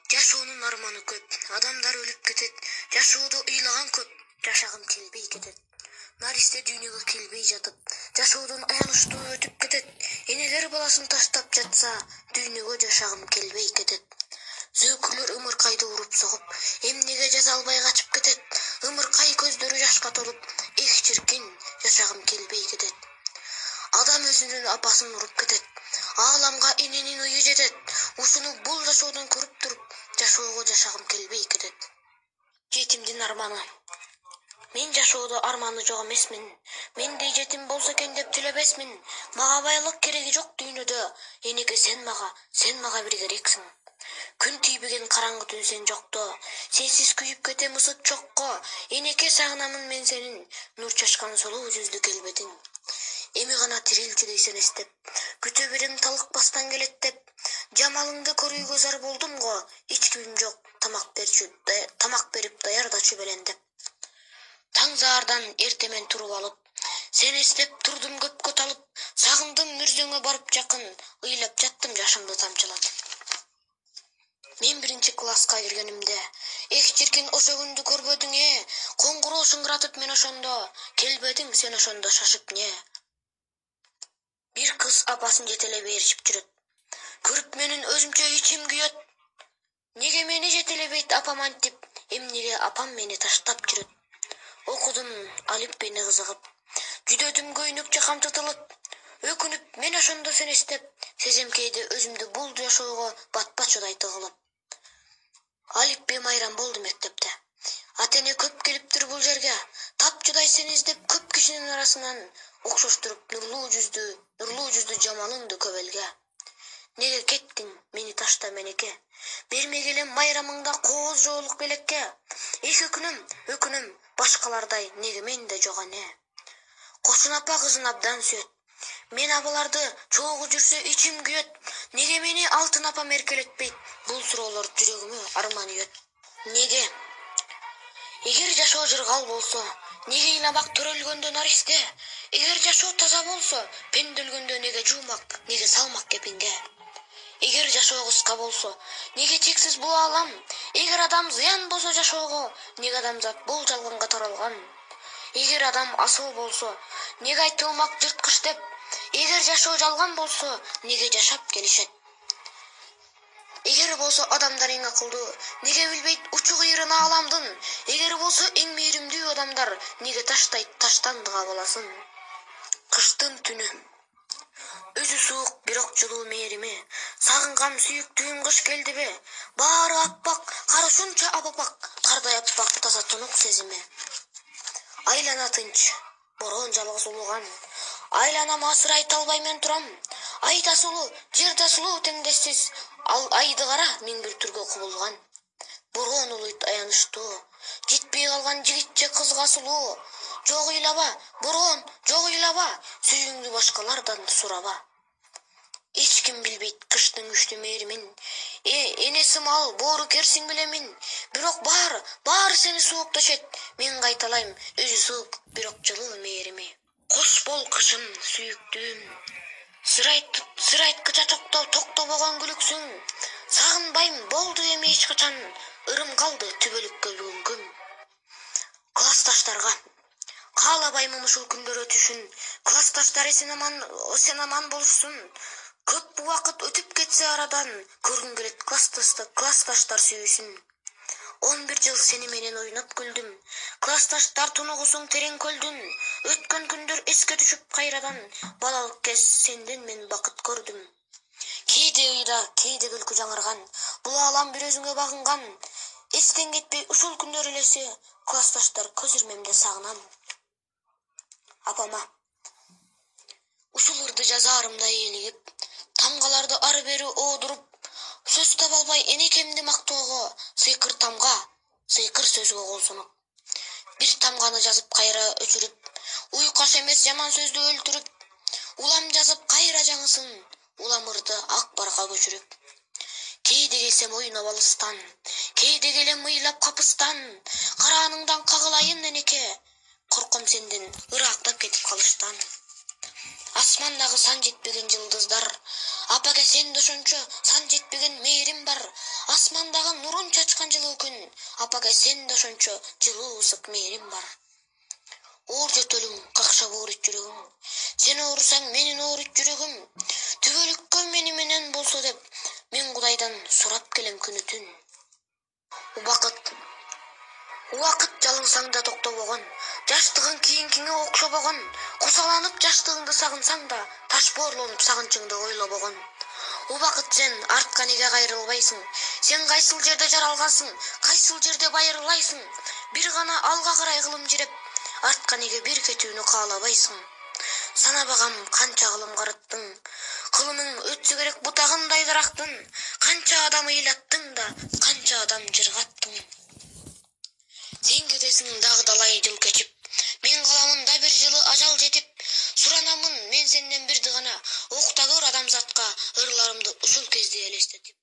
Жашоонун арманы көп, адамдар өлүп кетет. Жашоодо ыйлаган көп, жашагым келбей кетет. Наристе дүйнөгө келбей жатып, жашоодон аянычтуу өтүп кетет. Энелер баласын таштап жатса, дүйнөгө жашагым келбей кетет. Зөөкүрлөр ымыркайды уруп согуп, эмнеге жаза албай качып кетет. Ымыркай көздөрү жашка толуп, эх чиркин, жашагым келбей кетет. Адам өзүнүн апасын уруп кетет. Ааламга эненин ыйы жетет. Ушуну бул жашоодон көрүп туруп, жашоого жашагым келбей кетет. Жетимдин арманы. Мен жашоодо арманы жок эмесмин. Мендей жетим болсо экен деп тилебесмин. Мага байлык кереги жок дүйнөдө. Энеке сен мага бир керексиң. Күн тийбеген караңгы түн сен жокто. Сенсиз күйүп кетем ысык чокко. Энеке сагынамын мен сенин, нур чачкан солуу жүздү келбетиң. Эми гана тирилчү дейсен эстеп, күтө берем талыкпастан келет деп. Жамалыңды көрүүгө зар болдум го, эч кимим жок, тамак берип даярдачу белендеп. Таң заардан эртемен туруп алып, сен эстеп турдум көпкө талып, сагындым мүрзөңө барып жакын, ыйлап жаттым жашымды тамчылап. Мен 1-класска киргенимде, эх чиркин ошо күндү көрбөдүң коңгуроо шыңгыратып мен ошондо, келбедиң сен ошондо шашып не. Бир кыз апасын жетелебей ээрчип жүрөт. Көрүп менин өзүмчө ичим күйөт. Неге мени жетелебейт апам антип, эмнеге апам мени таштап жүрөт. Окудум алифбени кызыгып, жүдөдүм көйнөкчө камтытылып. Өкүнүп мен ошондо сени эстеп, сезем кээде өзүмдү бул жашоого батпачудай тыгылып. Алифбе майрам болду мектепте. Ата-эне көп келиптир бул жерге. Тапчудай сени издеп көп кишинин арасынан окшоштуруп нурлуу жүздү жамалыңды көп элге. Неге кеттиң мени ташта менеке? Бермек элем майрамыңда кооз жоолук белекке. Эч өкүнүм, башкалардай неге менде жок эне? Кошун апа кызын абдан сүйөт. Мен абаларды чогуу жүрсө ичим күйөт. Неге мени алтын апам эркелетпейт? Бул суроолор жүрөгүмө арман үйөт. Неге? Эгер жашоо жыргал болсо, неге ыйламак төрөлгөндө наристе? Эгер жашоо таза болсо, пенделгөндө неге жуумак, неге салмак кепинге? Эгер жашоо кыска болсо, неге чексиз бул аалам? Эгер адам зыян болсо жашоого, неге адамзат бул жалганга таралган? Эгер адам асыл болсо, неге айтылмак жырткыч деп? Эгер жашоо жалган болсо, неге жашап келишет? Эгер болсо адамдар эң акылдуу, неге билбейт учу кыйрын ааламдын? Эгер болсо эң мээримдүү адамдар, неге таштайт таштандыга баласын? Кыштын түнү. Өзү суук, бирок жылуу мээрими, сагынган сүйүктүүм кыш келдиби? Баары аппак, кар ушунча аппак, кардай аппак таза тунук сезими. Айлана тынч, бороон жалгыз улуган. Айланама сыр айта албай мен турам. Ай да сулуу, жер да сулуу теңдессиз. Ал айды кара миң бир түргө кубулган. Бороон улуйт аянычтуу, жетпей калган жигитче кызга сулуу. Жок ыйлаба, бороон, жок ыйлаба, сүйүүңдү башкалардан сураба. Эч ким билбейт кыштын күчтүү мээримин. Энеси мал, боору керсиң билемин. Бирок баары сени суукташет. Мен кайталайм, өзү суук, бирок жылуу мээрими. Кош бол кышым, сүйүктүүм. Сыр айткыча токтобогон күлүксүң. Сагынбайм, болду эми эч качан. Ырым калды түбөлүккө бүгүнгүм. Классташтарга каалабаймын ушул күндөр өтүшүн. Классташтар сен аман болушсун. Көп убакыт өтүп кетсе арадан, көргүм келет классташтар сүйүүсүн. 11 жыл сени менен ойноп күлдүм. Классташтар тунугусуң терең көлдүн. Өткөн күндөр эске түшүп кайрадан, балалык кез сенден мен бакыт көрдүм. Кээде ыйда, кээде күлкү жаңырган, бул аалам бир өзүңө багынган. Эстен кетпей ушул күндөр элеси, классташтар көз ирмемде сагынам. Апама ушул ырды жазаарымда ээлигип, тамгаларды ары бери оодуруп, сөз таба албай энекемди мактоого, сыйкыр тамга, сыйкыр сөзгө кол сунуп. Бир тамганы жазып кайра өчүрүп, уйкаш эмес жаман сөздү өлтүрүп, улам жазып кайра жаңысын, уламырды ак барга көчүрүп. Кээде келсем ойноп алыстан, кээде келем ыйлап капыстан, карааныңдан кагылайын энеке, корком сенден ырактап кетип калыштан. Асмандагы сан жетпеген жылдыздар, апаке сенде ошончо сан жетпеген мээрим бар. Асмандагы нурун чачкан жылуу күн, апага сен да ошончо жылуу ысык мээрим бар. Оор жөтөлүң, какшап оорут жүрөгүм. Сен оорусаң, менин оорут жүрөгүм. Түбөлүккө мени менен болсо деп, мен Кудайдан сурап келем күнү түн. Убакыт жалыңсаң да токтобогон, жаштыгың кийинкиңе окшобогон, кусаланып жаштыгыңды сагынсаң да, таш боорлонуп сагынчыңды ойлобогон. Убакыт сен артка неге кайрылбайсың? Сен кайсыл жерде жаралгансың? Кайсыл жерде байырылайсың? Бир гана алга карай кылым жиреп, артка неге бир кетүүнү каалабайсың? Санабагам канча кылым карыттың, кылымың өтсө керек бутагындай дарактын, канча адам ыйлаттың да, канча адам жыргаттың. Сен кетесиң дагы далай жыл кечип, мен каламын да бир жылы ажал жетип, суранамын мен сенден бирди гана, окта көр адамзатка ырларымды ушул кезде элестетип.